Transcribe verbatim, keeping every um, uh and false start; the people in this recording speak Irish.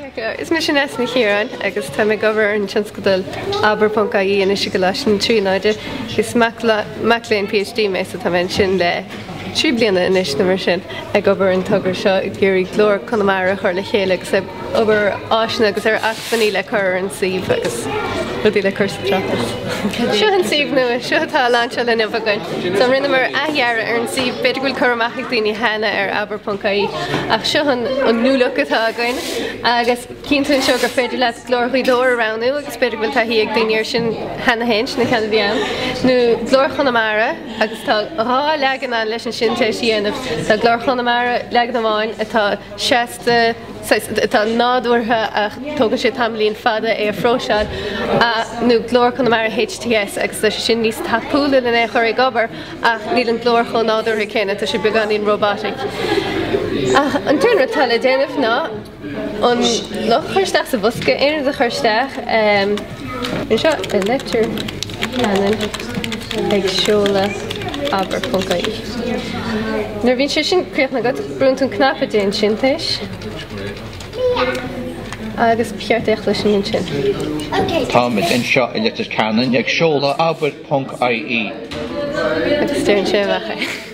Is mise Nessa Ní Chiaráin agus tá mé ag obair ar an tionscadal abair ponc ie anois i gColáiste na Tríonóide. Is mac léinn PhD mé so tá mé ansin le trí bliana anois nó mar sin ag obair an togra seo ag iarraidh Glór Chonamara a chur le chéile agus ag obair áiseanna agus ar acmhainní le cur ar an suíomh agus rudaí le cur sa tráchtas. Seo an suíomh nua, seo atá lainseáilte inniu againn. So rinneamar athdhearadh ar an suíomh, b'fhéidir go bhfuil cur amach ag daoine cheana ar abair ponc ie ach seo an an new look atá againn agus cíonn tú anseo gur féidir leat Glór Ghaoth Dobhair a roghnú agus b'fhéidir go bhfuil taithí ag daoine air sin cheana féin, sin an ceann a bhí ann, nó Glór Chonamara agus tá dhá leagan ann leis an sintéis a dhéanamh. Tá Glór Chonamara leagan amháin atá seasta, atá nádúrtha ach tógann sé tamaillín fada é a phróiseáil, nó Glór Chonamara HTS agus tá sé sin níos tapúla lena é a chur ag obair ach níl an glór chomh nádúrtha céanna, tá sé beagáinín robotic. Ach an t-aon rud atá le déanamh ná an luch a chur isteach sa bhosca, aon rud a chur isteach anseo i Leitir Ceanainn ag seoladh abair ponc ie. Nuair a bhíonn sé sin críochnaithe agat, brúnn tú an cnaipe déan sintéis agus ba cheart é a chloisint ansin. Táimid anseo i Leitir Ceanainn ag seoladh abair ponc ie. Agus deireann sé amach é.